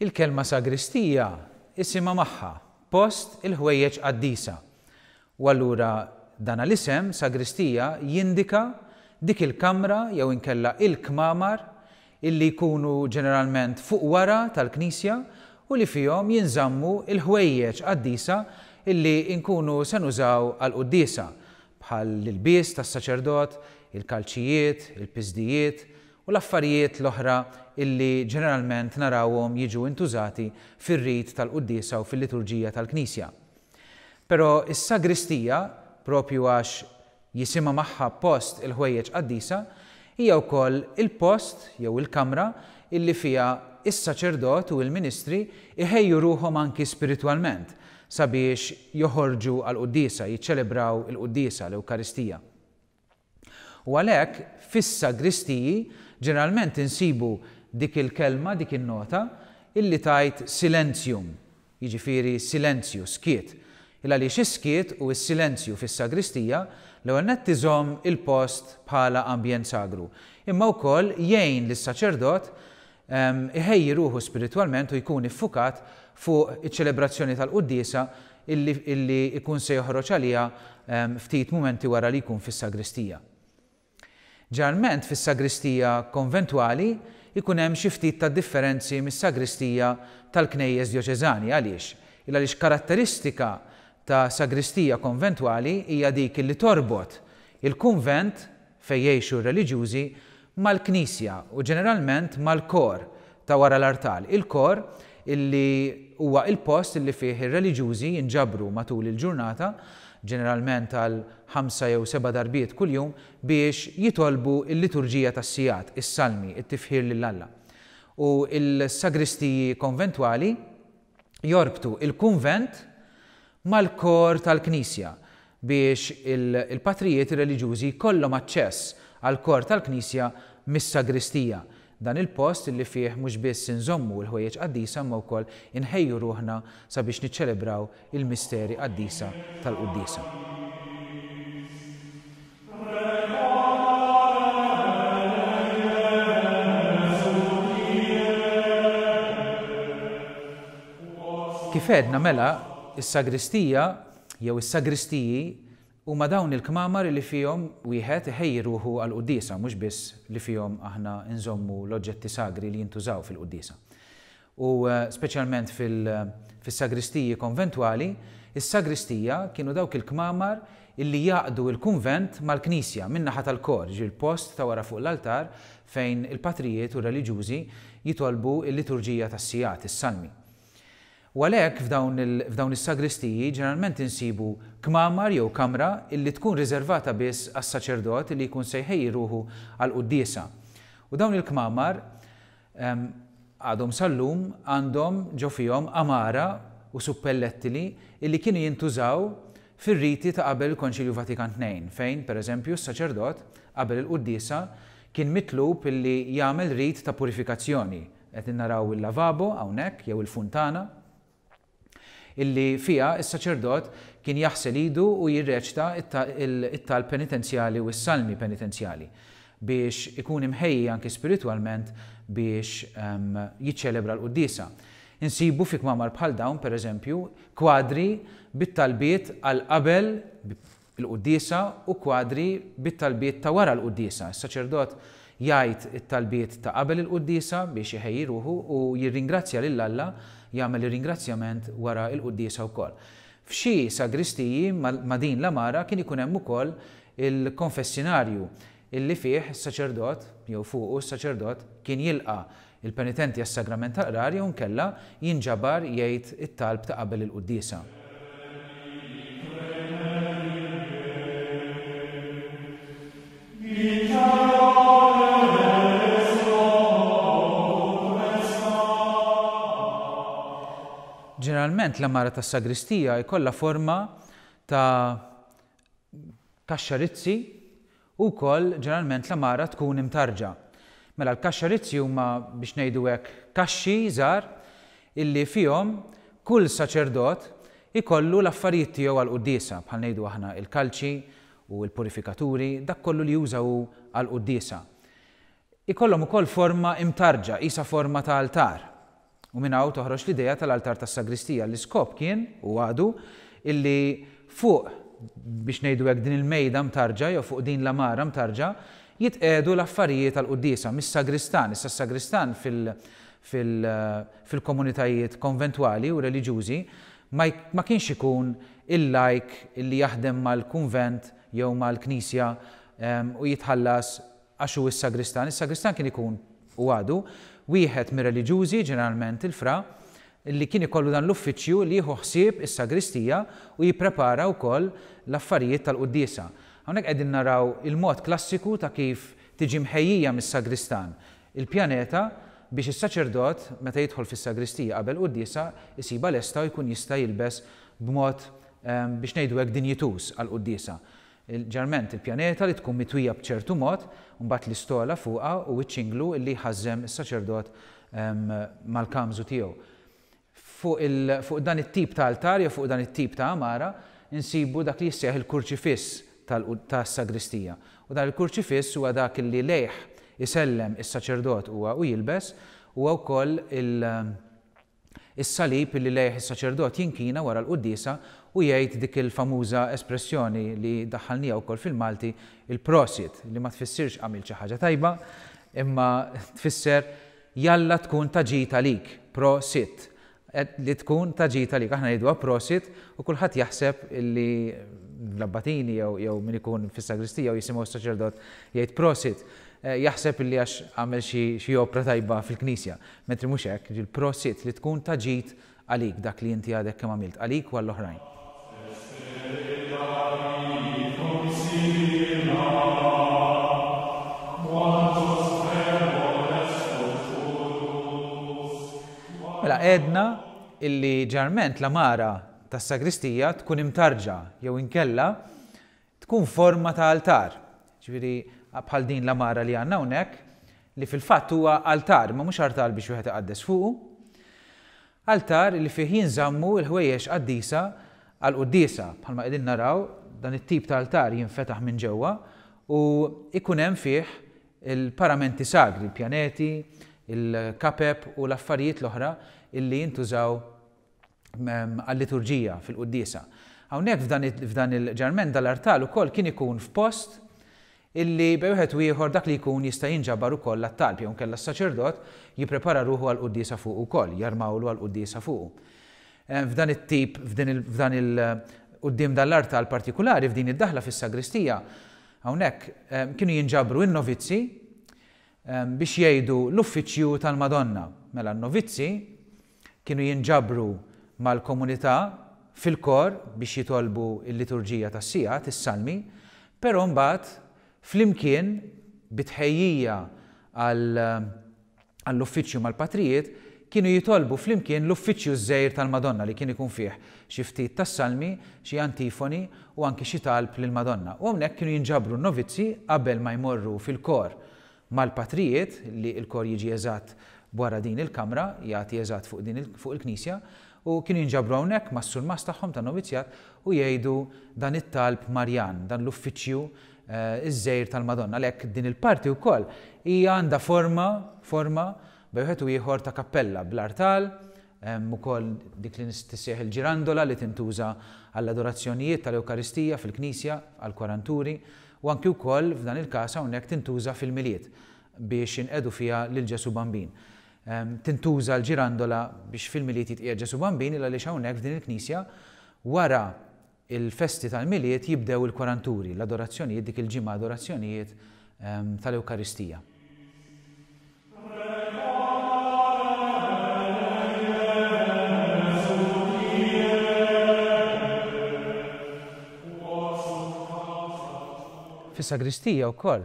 Il-kelma sagristija isimha magħha, post il-ħwejjeġ qaddisa. U allura dana l-isem, sagristija, jindika dik il-kamra jew inkella il-kmamar illi jkunu ġeneralment fuq wara tal-knisja u li fihom jinżammu l-ħwejjeġ qaddisa illi nkunu se nużaw għall-quddiesa, bħal l-ilbies tas-saċerdot, il-kalċijiet, il-piżdijiet u l-affarijiet l-oħra illi ġeneralment narawhom jiġu intużati fir-rit tal-quddiesa u fil-liturġija tal-knisja. Però s-sagristija, propju għax jisimha magħha post il-ħwejjeġ qaddisa, hija wkoll il-post jew il-kamra illi fiha s-saċerdot u l-ministri jħejju ruħhom anki spiritwalment sabiex joħorġu għall-quddiesa, jiċċelebraw il-quddiesa, l-Ewkaristija. U għalhekk fis-sagristiji ġeneralment insibu dik il-kelma, dik in-nota, illi tgħid silentium, jiġifieri silenzju, skiet. Il-għaliex is-skiet u s-silenzju fis-sagristija l-ewwel nett iżomm il-post bħala ambjent sagru, imma wkoll jgħin lis-saċerdot iħejji ruħu spiritwalment u jkun iffukat fuq iċ-ċelebrazzjoni tal-quddiesa illi illi jkun se joħroġ għaliha ftit mumenti wara li jkun fis-sagristija. Ġeneralment fis-sagristija konventwali jkun hemm xi ftit ta' differenzi mis-sagristija tal-knejjes djoċeżani. Għaliex? Il għaliex karatteristika ta' sagristija konventwali hija dik li torbot il-kunvent fejn jgħixu r-reliġjużi, mal-knisja u ġeneralment mal-kor ta' wara l-artal, il-kor illi huwa il-post illi fih ir-reliġjużi jinġabru matul il-ġurnata, ġeneralment għal ħamsa jew seba' darbiet kuljum, biex jitolbu l-liturġija tas-sigħat, is-salmi, it-tifħir lil Alla. U l-sagristiji konventwali jorbtu il-kunvent mal-kor tal-knisja biex il-patrijiet reliġjużi jkollhom aċċess għall-kor tal-knisja mis-sagristija, dan il-post li fih mhux biss inżommu l-ħwejjeġ qaddisa imma wkoll inħejju ruħna sabiex niċċelebraw il-misteri qaddisa tal-quddiesa. Kif għedna mela, is-sagristija jew is-sagristiji huma dawn il-kmamar li fihom wieħed iħejji ruħu għall-quddiesa, mhux biss li fihom aħna nżommu l-oġġetti sagri li jintużaw fil-quddiesa. U speċjalment fis-sagristiji konventwali, is-sagristija kienu dawk il-kmamar illi jgħaqqdu l-kunvent mal-knisja min-naħa tal-kor, jiġifieri l-post ta' wara fuq l-altar fejn il-patrijiet u r-reliġjużi jitolbu l-liturġija tas-sigħat, is-salmi. U għalhekk f'dawn is-sagristiji ġeneralment insibu kmamar jew kamra illi tkun riservata biss għas-saċerdot illi jkun se jħejji ruħu għall-quddiesa. U dawn il-kmamar Għadhom sal-lum għandhom ġo fihom għamara u suppellettili illi kienu jintużaw fir-riti ta' qabel il-Konċilju Vatikan Tnejn fejn, per eżempju, s-saċerdot, qabel il-quddiesa, kien mitlub illi jagħmel rit ta' purifikazzjoni. Qed naraw il-lavabo hawnhekk jew il-funtana. illi fiha s-saċerdot kien jaħsel idu u jirreċta t-talb penitenzjali u s-salmi penitenzjali biex ikun imħejji anki spiritwalment biex jiċċelebra l-quddiesa. Insibu fi kmamar bħal dawn, per eżempju, kwadri bit-talbiet għal qabel il-quddiesa u kwadri bit-talbiet ta' wara l-quddiesa. Is-saċerdot jgħid it-talbiet ta' qabel il-quddiesa biex iħejji ruħu u jirringrazzja lil Alla, jagħmel ir-ringrazzjament wara l-quddiesa wkoll. F'xi sagristiji ma' din l-għamara kien ikun hemm ukoll il-konfessinarju illi fih is-saċerdot, jew fuqu s-saċerdot, kien jilqa' l-penitenti għas-sagrament tal-qrar jew inkella jinġabar jgħid it-talb ta' qabel il-quddiesa. Ġeneralment l-għamara tas-sagristija jkollha forma ta' kaxxa rizzi u wkoll ġeneralment l-għamara tkun imtarrġa. Mela l-kaxxa rizzi huma biex ngħidu hekk kaxxi żgħar illi fihom kull saċerdot ikollu l-affarijiet tiegħu għall-quddiesa, bħal ngħidu aħna il-kalċi u l-purifikaturi, dak kollu li juża hu għall-quddiesa. Ikollhom ukoll forma imtarrġa, qisha forma ta' altar. U minn hawn toħroġ l-idea tal-altar tas-sagristija. L-iskop kien, u għadu, illi fuq, biex ngħidu hekk, din il-mejda mtarrġa jew fuq din l-għamara mtarrġa, jitqiegħdu l-affarijiet għall-quddiesa mis-sagristan. Issa s-sagristan fil, fil, fil-komunitajiet konventwali u reliġjużi ma, ma kienx ikun il-lajk illi jaħdem mal-kunvent jew mal-knisja u jitħallas għax hu s-sagristan. Is-sagristan kien ikun, u għadu, wieħed mir-reliġjużi, ġeneralment il-fra, li kien ikollu dan l-uffiċċju li jieħu ħsieb is-sagristija u jipprepara wkoll l-affarijiet tal-quddiesa. Hawnhekk qegħdin naraw il-mod klassiku ta' kif tiġi mħejjija mis-sagristan il-pjaneta biex is-saċerdot meta jidħol fis-sagristija qabel quddiesa jsibha lesta u jkun jista' jilbes b'mod biex ngħidu hekk dinjituż għall-quddiesa. Ġeneralment il-pjaneta li tkun mitwija b'ċertu mod, u mbagħad l-istola fuqha u ċ-ċinglu li jħażżem is-saċerdot mal-kamżu tiegħu. Fuq il, fuq dan it-tip ta' altar jew fuq dan it-tip ta' għamara nsibu dak li jissejjaħ il-kurċifiss tal, tas-sagristija. U dan il-kurċifiss huwa dak li lejh isellem is-saċerdot huwa u jilbes, huwa wkoll il, Is-salib li lejh is-saċerdot jinkina wara l-quddiesa u jgħid dik il-famuża espressjoni li daħħalniha wkoll fil-Malti, il-prosit, li ma tfissirx għamilt xi ħaġa tajba, imma tfisser jalla tkun ta' ġid għalik, pro sit, li tkun ta' ġid għalik. Aħna ngħiduha prosit u kulħadd jaħseb li l-abbatini jew min ikun fis-sagristija u jisimgħu s-saċerdot jgħid prosit, jaħseb li għax għamel xi opra tajba fil-knisja. Mentri mhux hekk, jiġifieri prosit li tkun ta' ġid għalik dak li inti għadek kemm għamilt, għalik u għall-oħrajn. Mela għedna illi ġeneralment l-għamara tas-sagristija tkun imtarrġa jew inkella Tkun forma ta' altar, jiġifieri bħal din l-għamara li għandna hawnhekk, li fil-fatt huwa altar, imma mhux artal biex wieħed iqaddes fuqu. Altar li fih jinżammu l-ħwejjeġ qaddisa għall-quddiesa. Bħalma qegħdin naraw, dan it-tip ta' altar jinfetaħ minn ġewwa u jkun hemm fih il-paramenti sagri, il-pjaneti, il-kapep u l-affarijiet l-oħra illi jintużaw għal-liturġija fil-quddiesa. Hawnhekk f'dan il-ġarment dal-artal ukoll kien ikun f'post illi bejn wieħed u ieħor dak li jkun jista' jinġabar ukoll għat-talb jew inkella s-saċerdot jipprepara ruħu għall-quddiesa fuqu wkoll, jarmawlu għall-quddiesa fuqu. F'dan it-tip, f'dan il quddiem dan l-artal partikulari, f'din id-daħla fis-sagristija, hawnhekk kienu jinġabru n-novizzi biex jgħidu l-uffiċċju tal-Madonna. Mela n-novizzi Kienu jinġabru mal-komunità fil-kor biex jitolbu l-liturġija tas-sigħat, is-salmi, però mbagħad flimkien bi tħejjija għall-uffiċċju mal-patrijiet kienu jitolbu flimkien l-uffiċċju ż-żgħir tal-Madonna li kien ikun fih xi ftit tas-salmi, xi antifoni u anki xi talb lill-Madonna. U hawnhekk kienu jinġabru n-novizzi qabel ma jmorru fil-kor mal-patrijiet, li l-kor jiġi eżatt wara din il-kamra, jagħti eżatt fuq din fuq il-knisja, u kienu jinġabru hawnhekk mas-surmast tagħhom tan-novizzjat u jgħidu dan it-talb Marjan, dan l-uffiċċju ż-żgħir tal-Madonna. Għalhekk din il-parti wkoll hija għandha forma forma bejn wieħed u ieħor ta' kappella bl-artal, Hemm ukoll dik li tissejjaħ il-ġirandola li tintuża għall-adorazzjonijiet tal-Ewkaristija fil-knisja, għall-kwaranturi, u anki wkoll f'dan il-każ hawnhekk tintuża fil-Milied biex inqiegħdu fiha lil Ġesù Bambin. Tintuża l-ġirandola biex fil-Milied jitqiegħed Ġesù Bambin il għaliex hawnhekk f'din il-knisja wara l-festi tal-Milied jibdew il-kwaranturi, l-adorazzjonijiet, dik il-ġimgħa adorazzjonijiet tal-Ewkaristija. Fis-sagristija wkoll,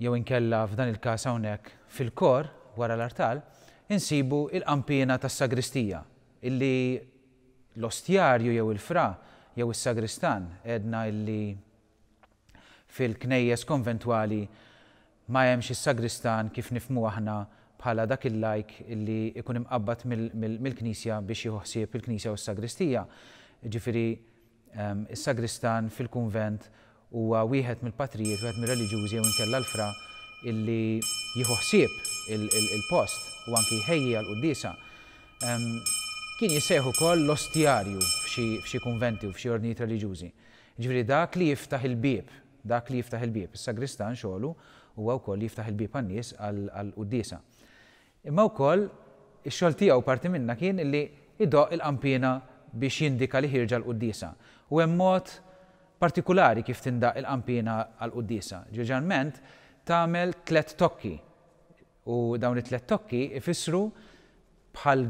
jew inkella f'dan il-każ hawnhekk fil-kor wara l-artal, insibu il-qanpiena tas-sagristija illi l-ostjarju jew il-fra jew is-sagristan għedna illi Fil-knejjes konventwali ma hemmx is-sagristan kif nifhmuh aħna bħala dak il-lajk li jkun imqabbad mill-knisja biex jieħu ħsieb il-knisja u s-sagristija. Jiġifieri is-sagristan fil-kunvent huwa wieħed mill-patrijiet, wieħed mir-reliġjużi jew inkella l-fra illi jieħu ħsieb il-post u anki jħejji għall-quddiesa. Kien jissejjaħ ukoll l-ostjarju f'xi kunventi u f'xi ordnijiet reliġjużi. Jiġifieri dak li jiftaħ il-bieb, dak li jiftaħ il-bieb. Is-sagristan xogħlu huwa wkoll li jiftaħ il-bieb għan-nies għall-quddiesa. Imma wkoll ix-xogħol tiegħu parti minnha kien li jdoqq il-qanpiena biex jindika li ħierġa l-quddiesa. U hemm mod partikulari kif tindaqq il-qanpiena għall-quddiesa. Ġeneralment tagħmel tlett tokki u dawn it-tlett tokki ifissru bħal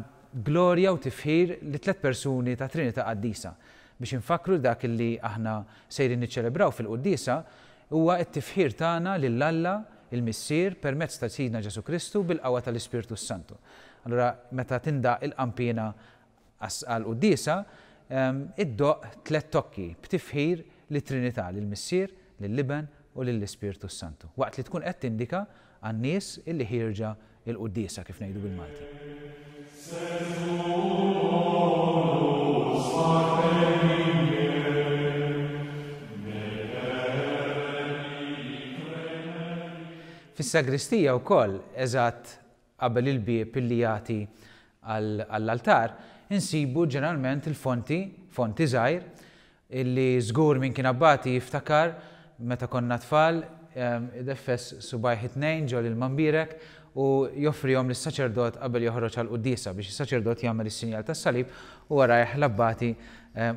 glorja u tifħir lit-tlett persuni tat-Trinità Qaddisa. Biex infakkru li dak li aħna sejrin niċċelebraw fil-quddiesa huwa t-tifħir tagħna lil Alla il-Missier permezz ta' Sidna Ġesù Kristu bil-qawwa tal-Ispirtu s-Santu. Allura meta tindaqq il-qanpiena għall-quddiesa, iddoqq tlett tokki b'tifħir lit-Trinità, lill-Missier, lill-Iben u lill-Ispirtu s-Santu, waqt li tkun qed tindika għan-nies illi ħierġa l-quddiesa, kif ngħidu bil-Malti. Fis-sagristija wkoll, eżatt qabel il-bieb illi jagħti għall-altar, insibu ġeneralment il-fonti, fonti żgħir, Illi żgur min kien abbati jiftakar meta konna tfal, ideffes subgħajh it-tnejn ġo l-ilma mbierek u joffrihom lis-saċerdot qabel joħroġ għall-quddiesa biex is-saċerdot jagħmel is-sinjal tas-salib u warajh l-abbati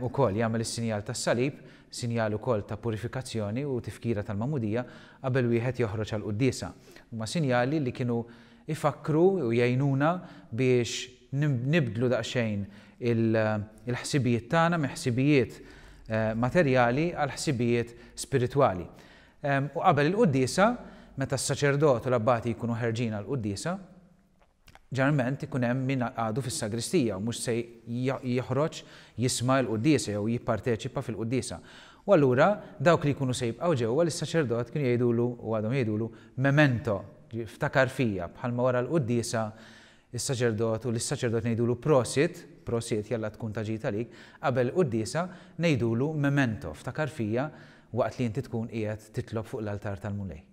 wkoll jagħmel is-sinjal tas-salib, sinjal ukoll ta' purifikazzjoni u tifkira tal-magħmudija, qabel wieħed joħroġ għall-quddiesa. Huma sinjali li kienu ifakkru u jgħinuna biex nibdlu daqsxejn il-ħsibijiet tagħna minn ħsibijiet materjali għal ħsibijiet spiritwali. U qabel il-quddiesa, meta s-saċerdot u l-abbati jkunu ħerġin għall-quddiesa, ġeneralment ikun hemm min għadu fis-sagristija u mhux se joħroġ jisma' l-quddiesa jew jipparteċipa fil-quddiesa. U allura dawk li jkunu se jibqgħu ġewwa lis-saċerdot kienu jgħidulu u għadhom jgħidulu memento, ftakar fija, bħalma wara l-quddiesa is-saċerdot u lis-saċerdot ngħidulu prosit, prosit, jalla tkun ta' ġid għalik, qabel il-quddiesa ngħidulu memento, ftakar fija waqt li inti tkun qiegħed titlob fuq l-altar tal-Mulej.